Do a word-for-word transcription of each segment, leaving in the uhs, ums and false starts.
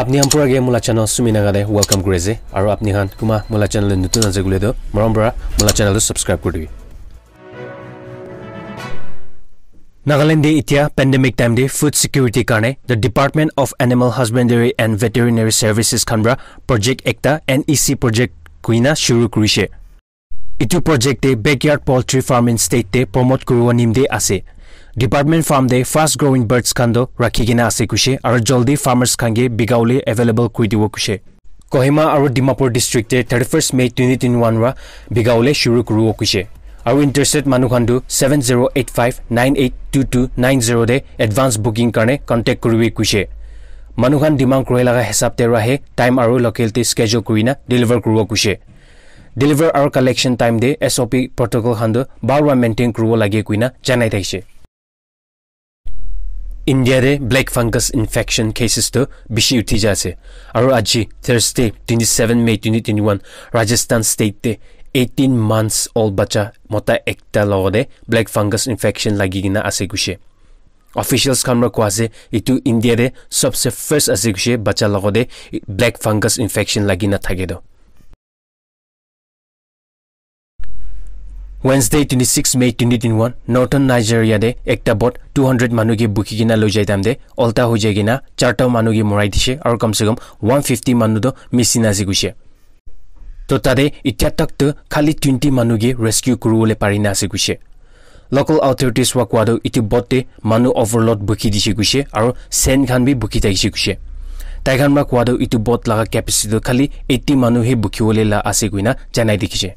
Apni khan pura ke mula channel Sumi Naga de welcome kuri ase. Aru apni khan kuma mula channel de nutun ase koile toh, morom para mula channel tu subscribe kuri dibi. Nagaland de itia pandemic time de food security karne the Department of Animal Husbandry and Veterinary Services khan para project ekta N E C project kuina shuru kurishe. Itu project te backyard poultry farming state te promote kuriwo nimde ase. Department farm te fast growing birds khan toh rakhi kena ase kuishe, aru jaldi farmers khan ke bikawole available kuri diwo kuishe. Kohima aru Dimapur district te thirty-first May twenty twenty-one ra bikawole shuru kuriwo kuishe. Aru interested manu khan toh seven zero eight five nine eight two two nine zero te advance booking karne contact kuribi kuishe. Manu khan demand kuri laga hisab te rahe time aru local te schedule kurina deliver kuriwo kuishe. Deliver aru collection time te S O P protocol khan toh bhal para maintain kuribo lage kuina janai thakishe. India te black fungus infection cases toh bishi uthi ja ase. Aru aji Thursday twenty-seven May twenty twenty-one Rajasthan state te eighteen months old bacha mota ekta logote black fungus infection lagi kena ase kuishe. Officials khan para koa ase itu India te sabse first ase kuishe bacha logote black fungus infection lagi na thake toh. Wednesday twenty-six May twenty twenty-one, Northern Nigeria te ekta boat two hundred manu ke bukhi kena loi jai time te ulta hoi jai kena charta manu ke morai dishe aru kam se kam one fifty manu toh missing ase kuishe. To tate itya tak toh khali twenty manu ke rescue kuribole pari na ase kuishe. Local authorities wa koa toh itu boat te manu overload bukhi dishe kuishe aru sand khan bi bukhi thakishe kuishe. Tai khan para koa toh itu boat laga capacity toh khali eighty manu he bukhiwole la ase kuina janai dikhishe.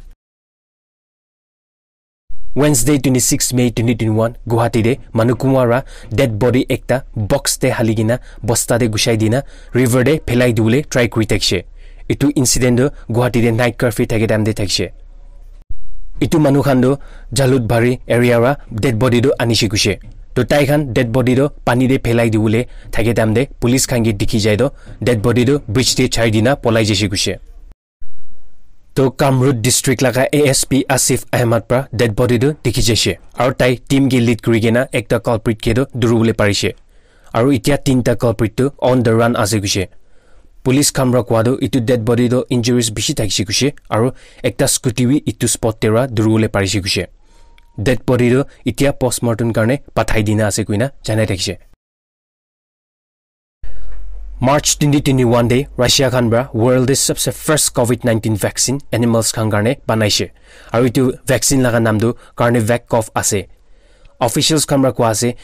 Wednesday twenty-six May twenty twenty-one Guwahati te manu kunwa ra dead body ekta box te hali kena bosta te gushai dina river te phelai dibole try kuri thakishe. Itu incident toh Guwahati te night curfew thake time te thakishe. Itu manu khan toh Jalukbari area ra dead body toh anishe kuishe. To tai khan dead body toh pani te phelai dibole thake time te police khan ke dikhi jai toh dead body toh bridge te chai dina polai jaishe kuishe. To Kamrup district laga A S P Asif Ahmed pra dead body toh dikhi jaishe. Aru tai team ke lead kuri kena ekta culprit ke toh duribole parishe. Aru itya tinta culprit toh on the run ase kuishe. Police khan pra koa toh itu dead body toh injuries bishi thakishe kuishe aru ekta scooty bi itu spot te ra duribole parishe kuishe. Dead body toh itya postmortem karne pathai dina ase kuina janai thakishe. March twenty twenty-one te Russia khan pra world te sabse first covid nineteen vaccine animals khan karne banaishe. Aru itu vaccine laga naam toh Carnivac Cov ase. Officials khan pra koa ase,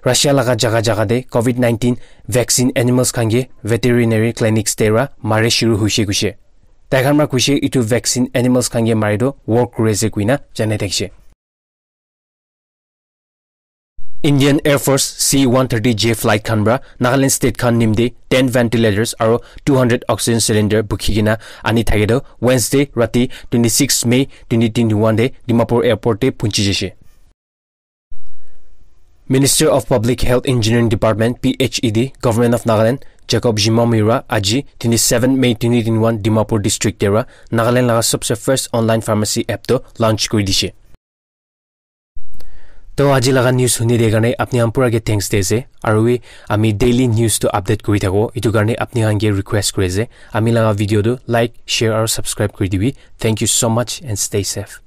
Russia laga jaga jaga te covid nineteen vaccine animals khan ke veterinary clinics te ra mare shuru hoishe kuishe. Tai khan pra kuishe itu vaccine animals khan ke mare toh work kuri ase kuina janai thakishe. Indian Air Force C one thirty J flight khan pra Nagaland state khan nimte ten ventilators aru two hundred oxygen cylinder bukhi kena ani thake toh Wednesday rati twenty-six May twenty twenty-one te Dimapur airport te punchi jaishe. Minister of Public Health Engineering Department P H E D Government of Nagaland Jacob Zhimomi ra aji twenty-seven May twenty twenty-one Dimapur district te ra Nagaland laga sabse first online pharmacy app toh launch kuri dishe. To aji laga news huni de karne apni khan pura ke thanks de ase. Aru wi ami daily news to update kuri thako. Itu karne apni khan ke request kuri ase. Ami laga video tu like, share aru subscribe kuri dibi. Thank you so much and stay safe.